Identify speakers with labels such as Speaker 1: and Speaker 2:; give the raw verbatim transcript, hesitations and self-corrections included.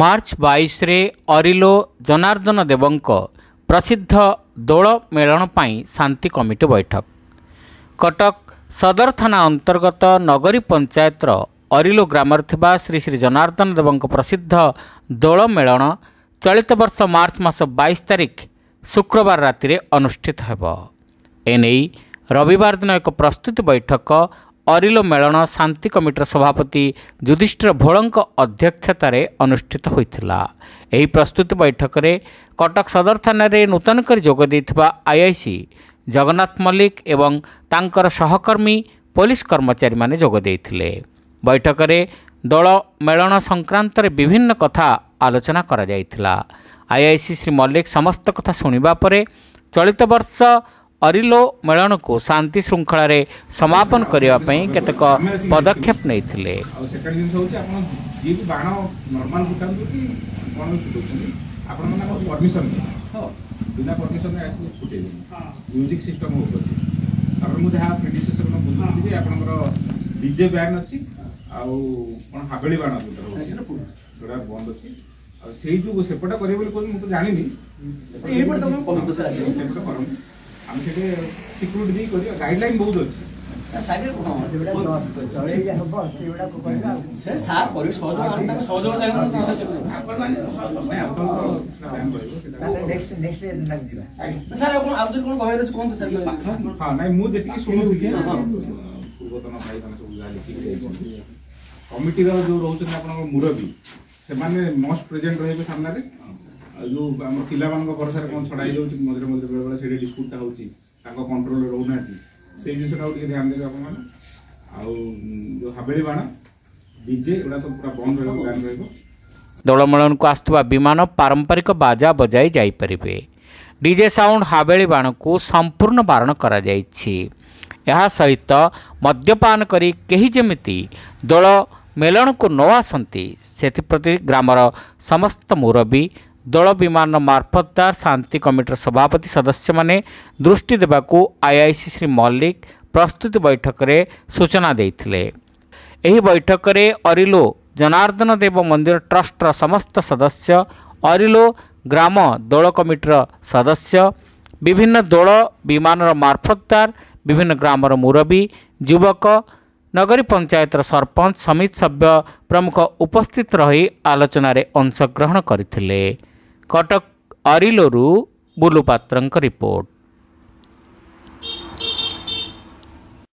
Speaker 1: March ବାଇଶରେ ଅରିଲୋ ଜନାର୍ଦ୍ଦନ ଦେବଙ୍କ ପ୍ରସିଦ୍ଧ ଦୋଳ ମେଳଣ ପାଇଁ ଶାନ୍ତି କମିଟି ବୈଠକ। କଟକ ସଦର ଥାନା ଅନ୍ତର୍ଗତ ନଗରୀ ପଞ୍ଚାୟତର ଅରିଲୋ ଗ୍ରାମରେ ଥିବା ଶ୍ରୀ ଶ୍ରୀ ଜନାର୍ଦ୍ଦନ ଦେବଙ୍କ ପ୍ରସିଦ୍ଧ ଦୋଳ ମେଳଣ ଚଳିତ ବର୍ଷ ମାର୍ଚ୍ଚ ମାସ ବାଇଶ ତାରିଖ ଶୁକ୍ରବାର ରାତିରେ ଅନୁଷ୍ଠିତ ହେବ। ଏନେଇ ରବିବାର ଦିନ ଏକ ପ୍ରସ୍ତୁତି ବୈଠକ ଅରିଲୋ ମେଳଣ ଶାନ୍ତି କମିଟିର ସଭାପତି ଯୁଧିଷ୍ଠିର ଭୋଳଙ୍କ ଅଧ୍ୟକ୍ଷତାରେ ଅନୁଷ୍ଠିତ ହୋଇଥିଲା। ଏହି ପ୍ରସ୍ତୁତି ବୈଠକରେ କଟକ ସଦର ଥାନାରେ ନୂତନ କରି ଯୋଗ ଦେଇଥିବା ଆଇଆଇସି ଜଗନ୍ନାଥ ମଲ୍ଲିକ ଏବଂ ତାଙ୍କର ସହକର୍ମୀ ପୋଲିସ କର୍ମଚାରୀମାନେ ଯୋଗ ଦେଇଥିଲେ। ବୈଠକରେ ଦୋଳ ମେଳଣ ସଂକ୍ରାନ୍ତରେ ବିଭିନ୍ନ କଥା ଆଲୋଚନା କରାଯାଇଥିଲା। ଆଇଆଇସି ଶ୍ରୀ ମଲ୍ଲିକ ସମସ୍ତ କଥା ଶୁଣିବା ପରେ ଚଳିତ ବର୍ଷ ଅରିଲୋ ମେଳଣକୁ ଶାନ୍ତି ଶୃଙ୍ଖଳାରେ ସମାପନ କରିବା ପାଇଁ କେତେକ ପଦକ୍ଷେପ ନେଇଥିଲେ।
Speaker 2: ଆଉ ସେକେଣ୍ଡ ଜିନିଷ ହେଉଛି, ଆପଣ ଯିଏ ବି ବାଣ ନର୍ମାଲ ଫୁଟାନ୍ତୁ କି କ'ଣ ବି ଫୁଟାଉଛନ୍ତି, ଆପଣମାନେ ଆମର ପରମିସନ୍, ହଁ, ବିନା ପରମିସନ୍ରେ ଆସିକି ଫୁଟେଇବେନି, ମ୍ୟୁଜିକ୍ ସିଷ୍ଟମ୍ ହଉ ଅଛି। ତାପରେ ମୁଁ ଯାହା ପ୍ରିଡିସେସର୍ ବୁଝୁଥିଲି ଯେ ଆପଣଙ୍କର ଡିଜେ ବ୍ୟାନ୍ ଅଛି, ଆଉ କ'ଣ ହାବେଳି ବାଣ ଯୋଉଟା ରହୁଛି ଯୋଉଟା ବନ୍ଦ ଅଛି। ଆଉ ସେଇ ଯୋଉ ସେପଟେ କରିବେ ବୋଲି କହୁଛନ୍ତି, ମୁଁ ତ ଜାଣିନି, ସେପଟେ କରନ୍ତୁ, ଆମେ ସେଠି ସିକ୍ୟୁରିଟି ଦେଇ କରିବା। ଗାଇଡଲାଇନ୍ ବହୁତ ଅଛି।
Speaker 3: ସେ ସାର୍ କରିବେ ସହଯୋଗ, ଆମେ ତାଙ୍କ ସହଯୋଗ ଚାହିଁବୁ।
Speaker 2: ନାଇଁ, ଆପଣଙ୍କର ବ୍ୟାନ୍ ରହିବ ସେଟା।
Speaker 3: ସାର୍, ଆପଣ ଆଉ ଯଦି କ'ଣ କହିବାର ଅଛି କୁହନ୍ତୁ ସାର୍।
Speaker 2: ହଁ, ନାଇଁ, ମୁଁ ଯେତିକି ଶୁଣୁଥିଲି, ପୂର୍ବତନ ଭାଇମାନେ ସବୁ ଯାହା ଲେଖିକି ଯାଇଛନ୍ତି, କମିଟିର ଯୋଉ ରହୁଛନ୍ତି ଆପଣଙ୍କ ମୁରବୀ, ସେମାନେ ମଷ୍ଟ ପ୍ରେଜେଣ୍ଟ ରହିବେ ସାମ୍ନାରେ। ଆଉ ଯୋଉ ଆମର ପିଲାମାନଙ୍କ ଭରସାରେ କ'ଣ ଛଡ଼ା ହେଇଯାଉଛି ମଝିରେ ମଝିରେ, ବେଳେବେଳେ ସେଇଠି ଡିସ୍ପ୍ୟୁଟଟା ହେଉଛି, ତାଙ୍କ କଣ୍ଟ୍ରୋଲରେ ରହୁନାହାନ୍ତି, ସେଇ ଜିନିଷଟାକୁ ଟିକେ ଧ୍ୟାନ ଦେବେ ଆପଣମାନେ। ଆଉ ଯୋଉ ହାବେଳି ବାଣ, ଡିଜେ, ଏଗୁଡ଼ା ସବୁ ପୁରା ବନ୍ଦ ରହିବ, ବ୍ୟାନ୍ ରହିବ।
Speaker 1: ଦୋଳମେଳନକୁ ଆସୁଥିବା ବିମାନ ପାରମ୍ପରିକ ବାଜା ବଜାଇ ଯାଇପାରିବେ। ଡିଜେ ସାଉଣ୍ଡ, ହାବେଳି ବାଣକୁ ସମ୍ପୂର୍ଣ୍ଣ ବାରଣ କରାଯାଇଛି। ଏହା ସହିତ ମଦ୍ୟପାନ କରି କେହି ଯେମିତି ଦୋଳ ମେଳଣକୁ ନ ଆସନ୍ତି, ସେଥିପ୍ରତି ଗ୍ରାମର ସମସ୍ତ ମୁରବୀ, ଦୋଳ ବିମାନ ମାର୍ଫତଦାର, ଶାନ୍ତି କମିଟିର ସଭାପତି, ସଦସ୍ୟମାନେ ଦୃଷ୍ଟି ଦେବାକୁ ଆଇଆଇସି ଶ୍ରୀ ମଲ୍ଲିକ ପ୍ରସ୍ତୁତି ବୈଠକରେ ସୂଚନା ଦେଇଥିଲେ। ଏହି ବୈଠକରେ ଅରିଲୋ ଜନାର୍ଦ୍ଦନ ଦେବ ମନ୍ଦିର ଟ୍ରଷ୍ଟର ସମସ୍ତ ସଦସ୍ୟ, ଅରିଲୋ ଗ୍ରାମ ଦୋଳ କମିଟିର ସଦସ୍ୟ, ବିଭିନ୍ନ ଦୋଳ ବିମାନର ମାର୍ଫତଦାର, ବିଭିନ୍ନ ଗ୍ରାମର ମୁରବୀ, ଯୁବକ, ନଗରୀ ପଞ୍ଚାୟତର ସରପଞ୍ଚ, ସମିତି ସଭ୍ୟ ପ୍ରମୁଖ ଉପସ୍ଥିତ ରହି ଆଲୋଚନାରେ ଅଂଶଗ୍ରହଣ କରିଥିଲେ। କଟକ ଅରିଲୋରୁ ବୁଲୁ ପାତ୍ରଙ୍କ ରିପୋର୍ଟ।